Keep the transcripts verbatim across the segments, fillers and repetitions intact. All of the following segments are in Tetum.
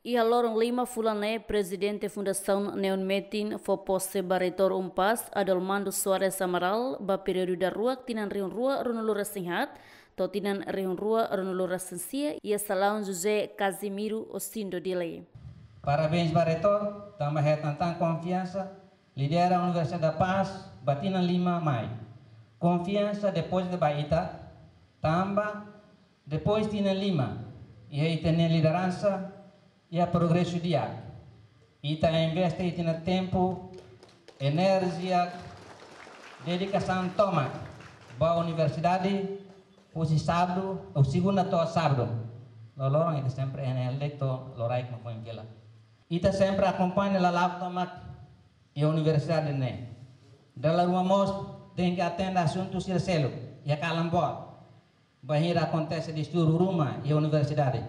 Iha loron lima fulan ne'e, Prezidente Fundasaun Neon Metin fó pose ba Reitór UNPAZ, Adolmando Soares Amaral, ba períodu daruak tinan rihun rua ruanulu resin haat to'o tinan rihun rua ruanulu resin sia, iha salaun José Casimiro Osindo Dili. Parabéns ba Reitór, tanba hetan tan konfiansa, lidera Universidade da Paz ba tinan lima mai. Konfiansa depózita ba ita, tanba depois tinan lima, iha ita-nia lideransa, iha progresu di'ak. Ita investe ita-nia tempu, enerjia, dedikasaun tomak ba universidade, husi sábadu, ou segunda to'o sábadu. Loroloron ita sempre N L D to'o loraik mak foin fila. Ita sempre akompaña lala'ok tomak iha universidade ne'e. Dala ruma mós tenke atende asuntu sira seluk iha kalan boot. Bainhira akontese distúrbiu ruma iha universidade,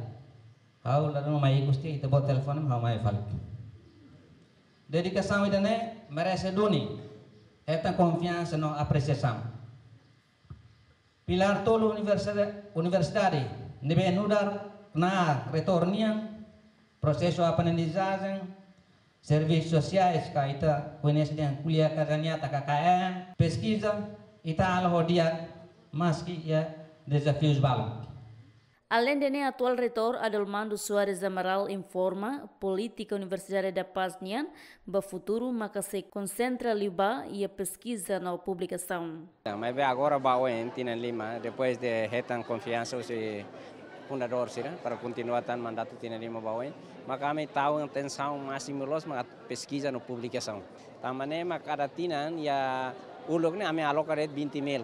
ha'u la ruma mai ikus tiha, ita boot telefone, ha'u mai fali. Dedikasaun ida-ne'e merese duni hetan konfiansa no apresiasaun. Pilár tolu universidade, universidade ne'ebé nu'udar knaar reitór nian, prosesu aprendizajen, servisu sosiais ka ita koñese dehan ko'alia kaza nyata ka K K M, peskiza, ita halo ho di'ak maski iha dezafiu balu. Aleinde ne'e, atuál Reitór Adolmando Soares Amaral informa, polítika Universidade da Paz nian ba futuru maka sei konsentra liu ba iha peskiza no publikasaun. Maibé agora ba oin, tinan lima, depois de hetan konfiansa husi fundadór sira para kontinua tan mandatu tinan lima ba oin, maka ami tau atensaun másimu loos maka peskiza no publikasaun. Tanba ne'e mak kada tinan iha uluk ne'e ami aloka de'it vinte mil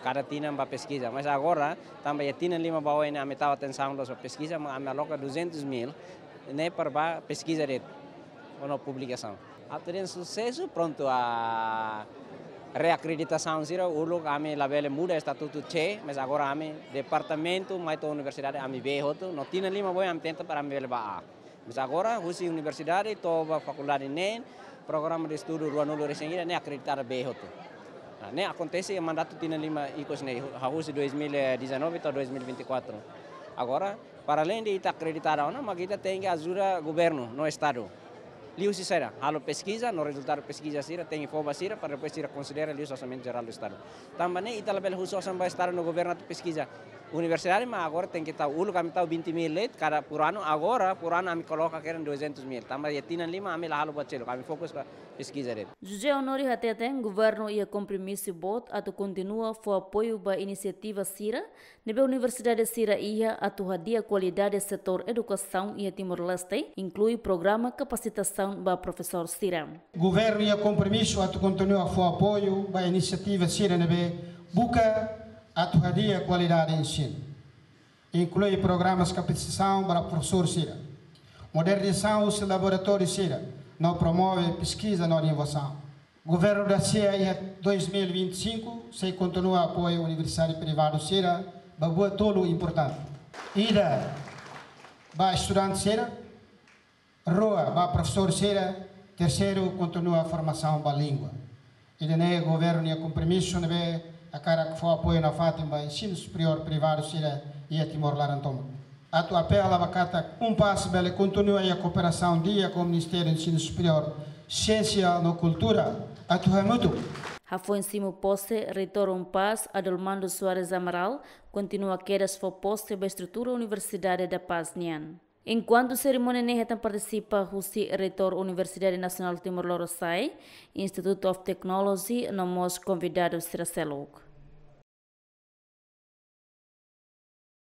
kada tinan ba peskiza. Mas agora, tanba iha tinan lima ba oin ne'e ami tau atensaun loos ba peskiza, mak ami aloka duzentos mil ne'e para ba peskiza de'it no publikasaun. Atu dehan susesu, prontu, a reakreditasaun sira, uluk ami labele muda estatutu C, mas agora ami departamentu mai to'o universidade ami B hotu, no tinan lima ba oin ami tenta para ami bele ba A. Mas agora, husi universidade to'o ba fakuldade neen, programa de estudu ruanulu resin ida ne'e akreditadu B hotu. Nah, ne'e akontese iha mandatu tinan lima ikus ne'e, hahú husi dois mil e dezanove to'o dois mil e vinte e quatro. Agora, para além de ita akreditadu ona, mak ita tenke ajuda governu no estadu. Liuhusi saida, halo peskiza, no rezultadu peskiza sira tenke fó ba sira, para depois sira konsidera liuhusi orsamentu jerál do estadu. Tanba ne'e ita labele husu osan ba estadu no governu atu peskiza. Universidade mak agora tenke tau, uluk ami tau vinte mil de'it kada por anu, agora por anu ami koloka kedas duzentos mil. Tanba iha tinan lima ami la halo buat seluk, ami fokus ba peskiza de'it. José Honório hateten, governu iha kompromisu boot atu kontinua fó apoiu ba inisiativa sira ne'ebé universidade sira iha atu hadi'a kualidade setór edukasaun iha Timor-Leste, inklui programa kapasitasaun ba profesór sira. Governu iha kompromisu atu kontinua fó apoiu ba inisiativa sira ne'ebé buka atu hadi'a kualidade ensinu, inklui programas kapasitasaun ba profesór sira, modernizasaun husi laboratóriu sira, no promove peskiza no inovasaun. Governu da sia iha dois mil e vinte e cinco sei kontinua apoiu universidade privadu sira ba buat tolu importante. Ida, ba estudante sira, rua, ba profesór sira, terseiru, kontinua formasaun ba língua. Ida-ne'e governu nia kompromisu ne'ebé hakarak fó apoiu nafatin ba ensinu superiór privadu sira iha Timor laran tomak. Atu apela ba katak UNPAZ bele kontinua iha kooperasaun di'ak ho Ministériu Ensinu Superiór, Siénsia no Kultura, atu hamutuk. Hafoin simu pose, Reitór UNPAZ, Adolmando Soares Amaral, kontinua kedas fó pose ba estrutura Universidade da Paz nian. Enkuantu serimónia ne'e hetan partisipa husi Reitór Universidade Nasionál Timor Lorosa'e, Institute of Technology, no mós konvidadu sira seluk.